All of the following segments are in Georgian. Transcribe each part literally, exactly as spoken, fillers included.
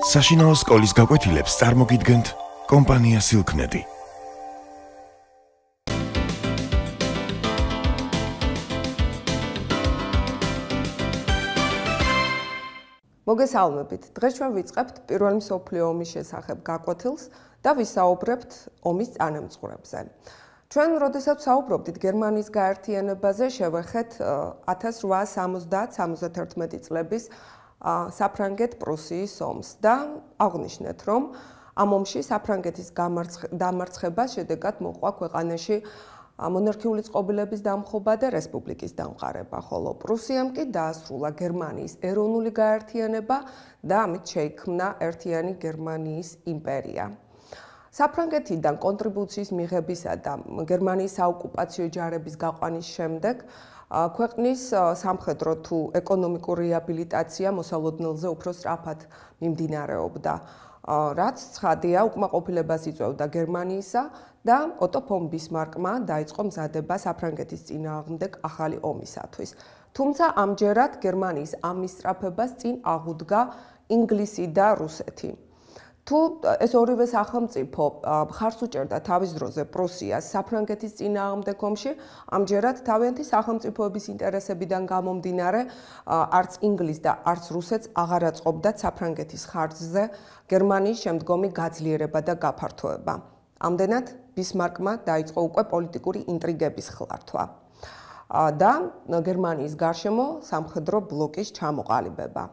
საშინაო სკოლის გაკვეთილებს წარმოგიდგენთ კომპანია სილქნეტი. მოგესალმებით. დღეს ჩვენ ვიწყებთ პირველი მსოფლიო ომის შესახებ გაკვეთილს და ვისაუბრებთ ომის წანამძღვრებზე. ჩვენ როდესაც საუბრობდით გერმანიის გაერთიანებაზე, შევეხეთ ათას რვაას სამოცდაათ სამოცდათერთმეტი წლების საფრანგეთ-პრუსიის ომს და აღვნიშნეთ, რომ ამ ომში საფრანგეთის დამარცხებას შედეგად მოყვა ქვეყანაში მონარქიული წყობილების დამხობა და რესპუბლიკის დამყარება, ხოლო პრუსიამ კი დაასრულა გერმანიის ეროვნული გაერთიანება და ამით შეიქმნა ერთიანი გერმანიის იმპერია. საფრანგეთიდან კონტრიბუციის მიღებისა და გერმანიის საოკუპაციო ჯარების გაყვანის შემდეგ ქვეყნის სამხედრო თუ ეკონომიკური რეაბილიტაცია მოსალოდნელზე უფრო სწრაფად მიმდინარეობდა, რაც ცხადია უკმაყოფილებას იწვევდა გერმანიისა და ოტო ფონ ბისმარკმა დაიწყო მზადება საფრანგეთის წინააღმდეგ ახალი ომისათვის. თუმცა ამჯერად გერმანიის ამ მისწრაფებას წინ აღუდგა ინგლისი და რუსეთი. თუ ეს ორივე სახელმწიფო მხარს უჭერდა თავის დროზე პრუსიას საფრანგეთის წინააღმდეგ ომში, ამჯერად თავიანთი სახელმწიფოების ინტერესებიდან გამომდინარე, არც ინგლისს და არც რუსეთს აღარ აწყობდათ საფრანგეთის ხარჯზე გერმანიის შემდგომი გაძლიერება და გაფართოება. ამდენად ბისმარკმა დაიწყო უკვე პოლიტიკური ინტრიგების ხლართვა და გერმანიის გარშემო სამხედრო ბლოკის ჩამოყალიბება.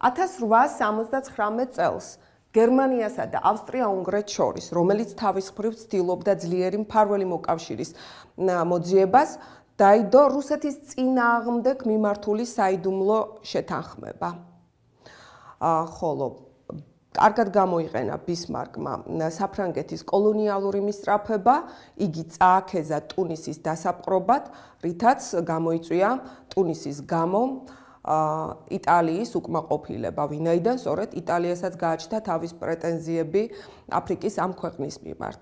ათას რვაას სამოცდაცხრამეტ წელს გერმანიასა და ავსტრია-უნგრეთს შორის, რომელიც თავის მხრივ ცდილობდა ძლიერი მფარველი მოკავშირის მოძიებას, დაიდო რუსეთის წინააღმდეგ მიმართული საიდუმლო შეთანხმება. ხოლო კარგად გამოიყენა ბისმარკმა საფრანგეთის კოლონიალური მისწრაფება, იგი წააქეზა ტუნისის დასაპყრობად, რითაც გამოიწვია ტუნისის გამო იტალიის უკმაყოფილება, ვინაიდან სწორედ იტალიასაც გააჩნდა თავის პრეტენზიები აფრიკის ამ ქვეყნის მიმართ.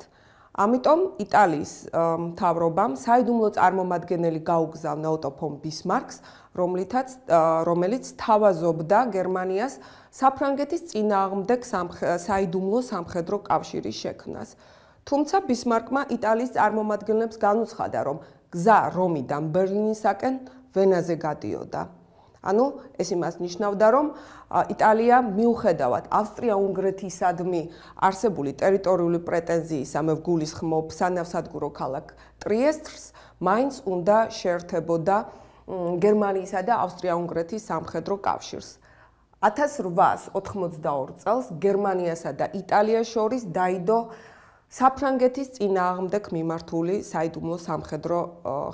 ამიტომ იტალიის მთავრობამ საიდუმლო წარმომადგენელი გაუგზავნა ოტო ფონ ბისმარკს, რომელიც თავაზობდა გერმანიას საფრანგეთის წინააღმდეგ საიდუმლო სამხედრო კავშირის შექმნას. თუმცა ბისმარკმა იტალიის წარმომადგენლებს განუცხადა, რომ გზა რომიდან ბერლინისაკენ ვენაზე გადიოდა. ანუ ეს იმას ნიშნავდა, რომ იტალია მიუხედავად ავსტრია-უნგრეთისადმი არსებული ტერიტორიული პრეტენზიისა, მე ვგულისხმობ სანავსადგურო ქალაქ ტრიესტს, მაინც უნდა შეერთებოდა გერმანიისა და ავსტრია-უნგრეთის სამხედრო კავშირს. ათას რვაას ოთხმოცდაორ წელს გერმანიასა და იტალიას შორის დაიდო საფრანგეთის წინააღმდეგ მიმართული საიდუმლო სამხედრო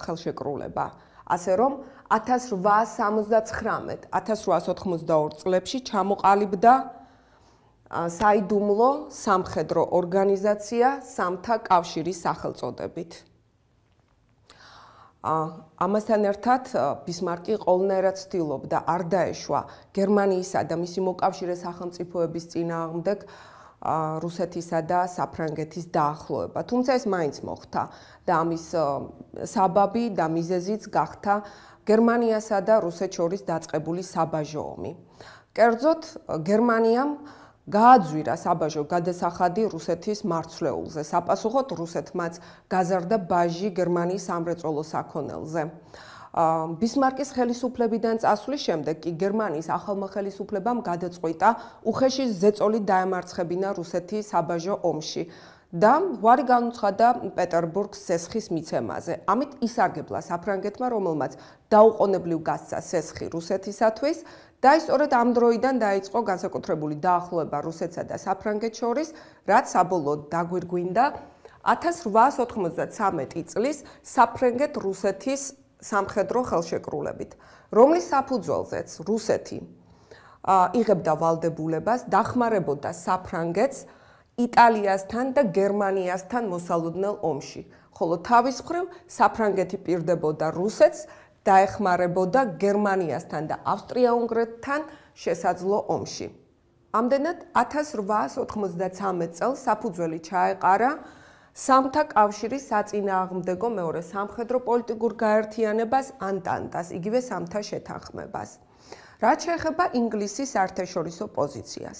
ხელშეკრულება. ასე რომ ათას რვაას სამოცდაცხრამეტ ათას რვაას ოთხმოცდაორ წლებში ჩამოყალიბდა საიდუმლო სამხედრო ორგანიზაცია სამთა კავშირის სახელწოდებით. ამასთან ერთად ბისმარკი ყოველნაირად ცდილობდა არ დაეშვა გერმანიისა და მისი მოკავშირე სახელმწიფოების წინააღმდეგ რუსეთისა და საფრანგეთის დაახლოება. თუმცა ეს მაინც მოხდა და ამის საბაბი და მიზეზიც გახდა გერმანიასა და რუსეთს შორის დაწყებული საბაჟო ომი. კერძოდ, გერმანიამ გააძვირა საბაჟო გადასახადი რუსეთის მარცვლეულზე. საპასუხოდ რუსეთმაც გაზარდა ბაჟი გერმანიის სამრეწველო საქონელზე. ბისმარკის ხელისუფლებიდან წასვლის შემდეგ კი გერმანიის ახალმა ხელისუფლებამ გადაწყვიტა უხეში ზეწოლით დაემარცხებინა რუსეთი საბაჟო ომში და უარი განუცხადა პეტერბურგს სესხის მიცემაზე. ამით ისარგებლა საფრანგეთმა, რომელმაც დაუყოვნებლივ გასცა სესხი რუსეთისათვის და სწორედ ამ დროიდან დაიწყო განსაკუთრებული დაახლოება რუსეთსა და საფრანგეთს შორის, რაც საბოლოოდ დაგვირგვინდა ათას რვაას ოთხმოცდაცამეტი წლის საფრანგეთ-რუსეთის სამხედრო ხელშეკრულებით, რომლის საფუძველზეც რუსეთი იღებდა ვალდებულებას დახმარებოდა საფრანგეთს იტალიასთან და გერმანიასთან მოსალოდნელ ომში, ხოლო თავის მხრივ საფრანგეთი პირდებოდა რუსეთს დაეხმარებოდა გერმანიასთან და ავსტრია-უნგრეთთან შესაძლო ომში. ამდენად ათას რვაას ოთხმოცდაცამეტ წელს საფუძველი ჩაეყარა სამთა კავშირის საწინააღმდეგო მეორე სამხედრო პოლიტიკურ გაერთიანებას ანტანტას, იგივე სამთა შეთანხმებას. რაც შეეხება ინგლისის საერთაშორისო პოზიციას.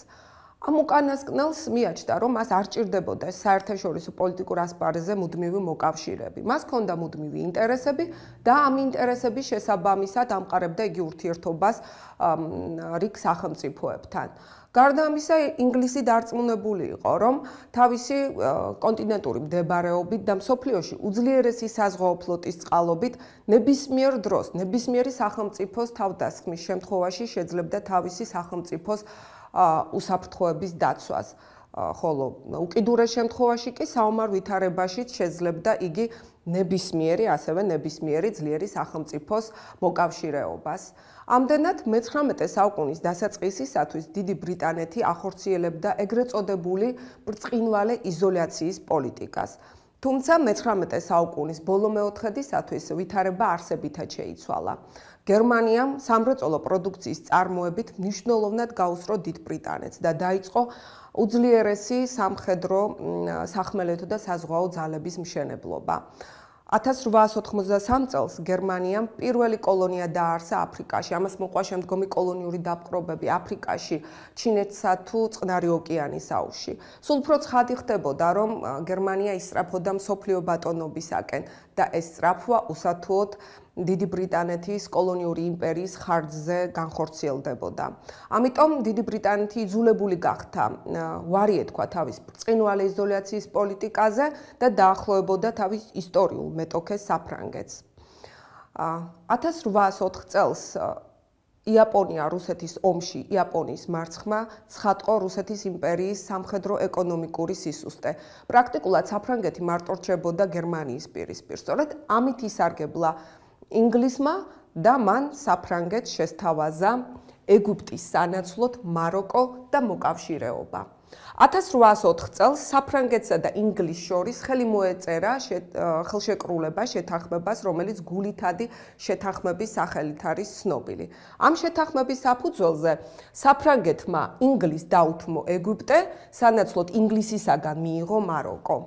ამ უკანასკნელს მიაჩნდა, რომ მას არ ჭირდებოდა საერთაშორისო პოლიტიკურ ასპარეზზე მუდმივი მოკავშირეები. მას ჰქონდა მუდმივი ინტერესები და ამ ინტერესების შესაბამისად ამყარებდა იგი ურთიერთობას რიგ სახელმწიფოებთან. გარდა ამისა, ინგლისი დარწმუნებული იყო, რომ თავისი კონტინენტური მდებარეობით და მსოფლიოში უძლიერესი საზღვაო ფლოტის წყალობით ნებისმიერ დროს, ნებისმიერი სახელმწიფოს თავდასხმის შემთხვევაში შეძლებდა თავისი სახელმწიფოს უსაფრთხოების დაცვას. ხოლო უკიდურეს შემთხვევაში კი საომარ ვითარებაშიც შეძლებდა იგი ნებისმიერი, ასევე ნებისმიერი ძლიერი სახელმწიფოს მოკავშირეობას. ამდენად მეცხრამეტე საუკუნის დასაწყისისათვის დიდი ბრიტანეთი ახორციელებდა ეგრეთ წოდებული ბრწყინვალე იზოლაციის პოლიტიკას. თუმცა მეცხრამეტე საუკუნის ბოლო მეოთხედისათვის ვითარება არსებითად შეიცვალა. გერმანიამ სამრეწველო პროდუქციის წარმოებით მნიშვნელოვნად გაუსწრო დიდ ბრიტანეთს და დაიწყო უძლიერესი სამხედრო, სახმელეთო და საზღვაო ძალების მშენებლობა. ათას რვაას ოთხმოცდასამ წელს გერმანიამ პირველი კოლონია დააარსა აფრიკაში. ამას მოყვა შემდგომი კოლონიური დაპყრობები აფრიკაში, ჩინეთსა თუ წყნარი ოკეანის აუზში. სულ უფრო ცხადი ხდებოდა, რომ გერმანია ისწრაფოდა მსოფლიო ბატონობისაკენ და ეს სწრაფვა უსათუოდ დიდი ბრიტანეთის კოლონიური იმპერიის ხარჯზე განხორციელდებოდა. ამიტომ დიდი ბრიტანეთი იძულებული გახდა ვარი ეთქვა თავის ბრწყინვალე იზოლაციის პოლიტიკაზე და დაახლოებოდა თავის ისტორიულ მეტოქეს საფრანგეთს. ათას რვაას ოთხ წელს იაპონია რუსეთის ომში იაპონიის მარცხმა ცხადყო რუსეთის იმპერიის სამხედრო-ეკონომიკური სისუსტე. პრაქტიკულად საფრანგეთი მარტო რჩებოდა გერმანიის პირისპირ. სწორედ ამით ისარგებლა ინგლისმა და მან საფრანგეთს შესთავაზა ეგვიპტის სანაცვლოდ მაროკო და მოკავშირეობა. ათას რვაას ოთხ წელს საფრანგეთსა და ინგლისს შორის ხელი მოეწერა ხელშეკრულება შეთანხმებას, რომელიც გულითადი შეთანხმების სახელით არის ცნობილი. ამ შეთანხმების საფუძველზე საფრანგეთმა ინგლისს დაუთმო ეგვიპტე, სანაცვლოდ ინგლისისაგან მიიღო მაროკო.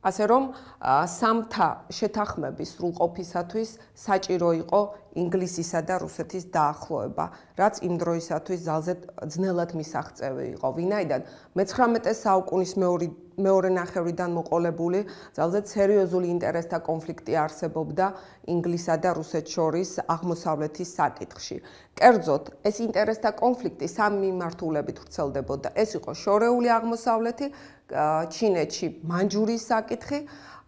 ასე რომ სამთა შეთანხმების სრულყოფისათვის საჭირო იყო ინგლისისა და რუსეთის დაახლოება, რაც იმ დროისათვის ძალზე ძნელად მისაღწევი იყო. ვინაიდან მეცხრამეტე საუკუნის მეორე ნახევრიდან მოყოლებული ძალზე სერიოზული ინტერესთა კონფლიქტი არსებობდა ინგლისსა და რუსეთს შორის აღმოსავლეთის საკითხში. კერძოდ, ეს ინტერესთა კონფლიქტი სამი მიმართულებით ვრცელდებოდა. ეს იყო შორეული აღმოსავლეთი, ჩინეთში მანჯურიის საკითხი,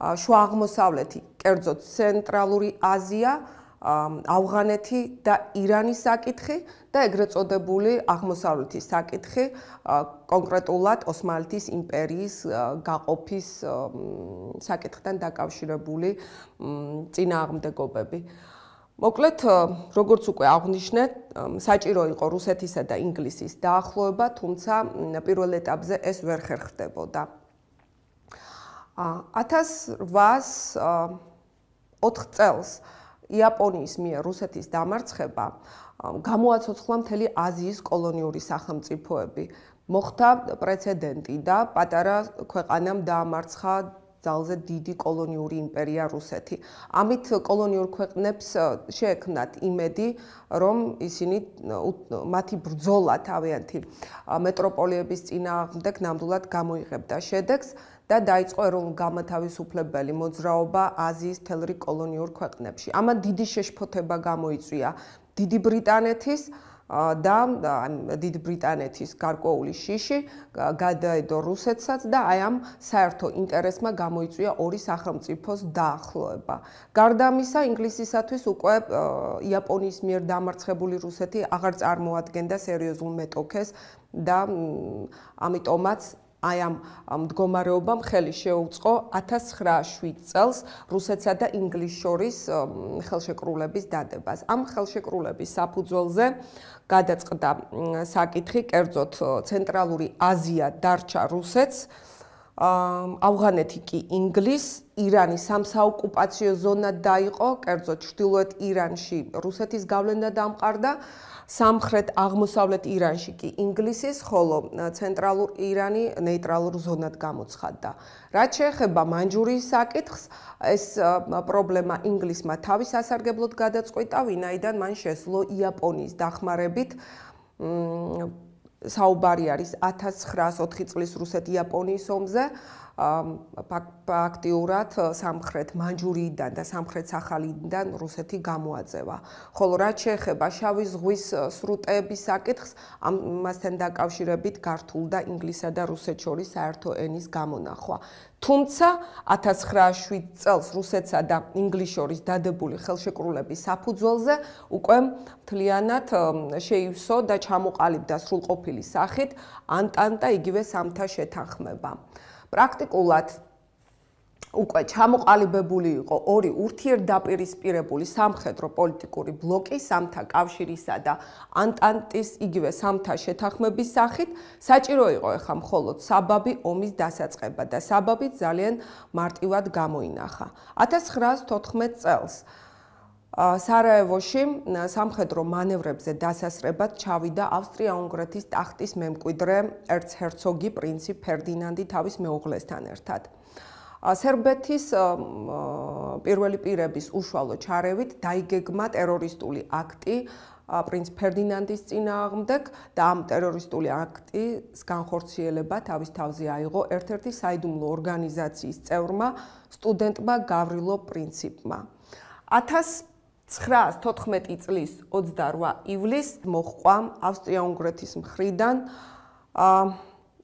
შუა აღმოსავლეთი, კერძოდ ცენტრალური აზია, ავღანეთი და ირანის საკითხი და ეგრეთ წოდებული აღმოსავლეთის საკითხი, კონკრეტულად ოსმალეთის იმპერიის გაყოფის საკითხთან დაკავშირებული წინააღმდეგობები. მოკლედ, როგორც უკვე აღვნიშნეთ, საჭირო იყო რუსეთისა და ინგლისის დაახლოება, თუმცა პირველ ეტაპზე ეს ვერ ხერხდებოდა. ათას რვაას ოთხ წელს იაპონიის მიერ რუსეთის დამარცხება გამოაცოცხლა მთელი აზიის კოლონიური სახელმწიფოები. მოხდა პრეცედენტი და პატარა ქვეყანამ დაამარცხა ძალზე დიდი კოლონიური იმპერია რუსეთი. ამით კოლონიურ ქვეყნებს შეექმნათ იმედი, რომ ისინი მათი ბრძოლა თავიანთი მეტროპოლიების წინააღმდეგ ნამდვილად გამოიღებდა შედეგს და დაიწყო ეროვნულ-განმათავისუფლებელი მოძრაობა აზიის მთელ რიგ კოლონიურ ქვეყნებში. ამან დიდი შეშფოთება გამოიწვია დიდი ბრიტანეთის და დიდი ბრიტანეთის გარკვეული შიში გადაედო რუსეთსაც და აი ამ საერთო ინტერესმა გამოიწვია ორი სახელმწიფოს დაახლოება. გარდა ამისა, ინგლისისათვის უკვე იაპონიის მიერ დამარცხებული რუსეთი აღარ წარმოადგენდა სერიოზულ მეტოქეს და ამიტომაც აი ამ მდგომარეობამ ხელი შეუწყო ათას ცხრაას შვიდ წელს რუსეთსა და ინგლისს შორის ხელშეკრულების დადებას. ამ ხელშეკრულების საფუძველზე გადაწყდა საკითხი, კერძოდ ცენტრალური აზია დარჩა რუსეთს, ავღანეთი კი ინგლისს, ირანი სამსაოკუპაციო ზონად დაიყო, კერძოდ ჩრდილოეთ ირანში რუსეთის გავლენა დამყარდა, სამხრეთ აღმოსავლეთ ირანში კი ინგლისის, ხოლო ცენტრალურ ირანი ნეიტრალურ ზონად გამოცხადდა. რაც შეეხება მანჯურიის საკითხს, ეს პრობლემა ინგლისმა თავის ასარგებლოდ გადაწყვიტა, ვინაიდან მან შესძლო იაპონიის დახმარებით საუბარი არის ათას ცხრაასოთხი წლის რუსეთ-იაპონიის ომზე. აქტიურად სამხრეთ მანჯურიიდან და სამხრეთ სახალინიდან რუსეთი გამოაძევა. ხოლო რაც შეეხება შავი ზღვის სრუტეების საკითხს, ამასთან დაკავშირებით გართულდა ინგლისსა და რუსეთს შორის საერთო ენის გამონახვა. თუმცა ათას ცხრაასი შვიდ წელს რუსეთსა და ინგლისს შორის დადებული ხელშეკრულების საფუძველზე უკვე მთლიანად შეივსო და ჩამოყალიბდა სრულყოფილი სახით ანტანტა, იგივე სამთა შეთანხმება. პრაქტიკულად უკვე ჩამოყალიბებული იყო ორი ურთიერთდაპირისპირებული სამხედრო პოლიტიკური ბლოკი სამთა კავშირისა და ანტანტის იგივე სამთა შეთანხმების სახით. საჭირო იყო ეხლა მხოლოდ საბაბი ომის დასაწყება და საბაბი ძალიან მარტივად გამოინახა. ათას ცხრაასი თოთხმეტ წელს სარაევოში სამხედრო მანევრებზე დასასრებად ჩავიდა ავსტრია-უნგრეთის ტახტის მემკვიდრე ერცჰერცოგი პრინცი ფერდინანდი თავის მეუღლესთან ერთად. სერბეთის პირველი პირების უშუალო ჩარევით დაიგეგმა ტერორისტული აქტი პრინც ფერდინანდის წინააღმდეგ და ამ ტერორისტული აქტის განხორციელება თავის თავზე აიღო ერთ-ერთი საიდუმლო ორგანიზაციის წევრმა სტუდენტმა გავრილო პრინციპმა. ათას ცხრაასი თოთხმეტი წლის ოცდარვა ივლისს მოჰყვა ავსტრია-უნგრეთის მხრიდან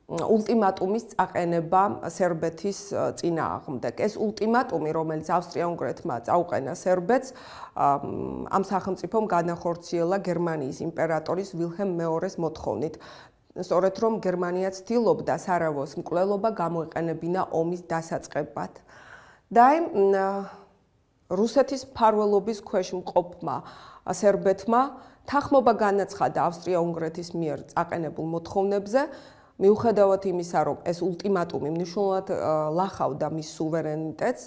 ულტიმატუმის წაყენება სერბეთის წინააღმდეგ. ეს ულტიმატუმი, რომელიც ავსტრია-უნგრეთმა წაუყენა სერბეთს, ამ სახელმწიფომ განახორციელა გერმანიის იმპერატორის ვილჰელმ მეორეს მოთხოვნით. სწორედ რომ გერმანია ცდილობდა სარაევოს მკვლელობა გამოეყენებინა ომის დასაწყებად. და რუსეთის მფარველობის ქვეშ მყოფმა სერბეთმა თანხმობა განაცხადა ავსტრია-უნგრეთის მიერ წაყენებულ მოთხოვნებზე, მიუხედავად იმისა, რომ ეს ულტიმატუმი მნიშვნელოვნად ლახავდა მის სუვერენიტეტს,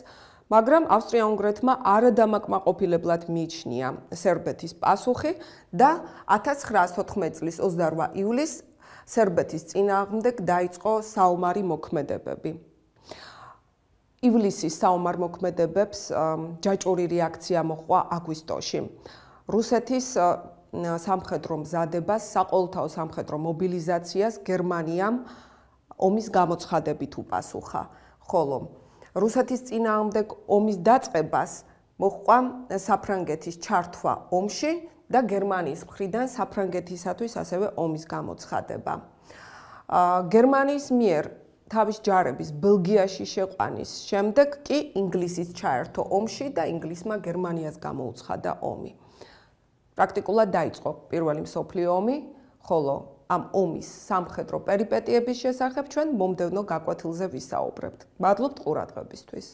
მაგრამ ავსტრია-უნგრეთმა არადამაკმაყოფილებლად მიიჩნია სერბეთის პასუხი და ათას ცხრაასი თოთხმეტი წლის ოცდარვა ივლისს სერბეთის წინააღმდეგ დაიწყო საომარი მოქმედებები. ივლისის საომარ მოქმედებებს ჯაჭვური რეაქცია მოჰყვა აგვისტოში. რუსეთის სამხედრო მზადებას, საყოველთაო სამხედრო მობილიზაციას გერმანიამ ომის გამოცხადებით უპასუხა, ხოლო რუსეთის წინააღმდეგ ომის დაწყებას მოჰყვა საფრანგეთის ჩართვა ომში და გერმანიის მხრიდან საფრანგეთისათვის ასევე ომის გამოცხადება. გერმანიის მიერ თავის ჯარების ბელგიაში შეყვანის შემდეგ კი ინგლისის ჩაერთო ომში და ინგლისმა გერმანიას გამოუცხადა ომი. პრაქტიკულად დაიწყო პირველი მსოფლიო ომი, ხოლო ამ ომის სამხედრო პერიპეტიების შესახებ ჩვენ მომდევნო გაკვეთილზე ვისაუბრებთ. მადლობთ ყურადღებისთვის.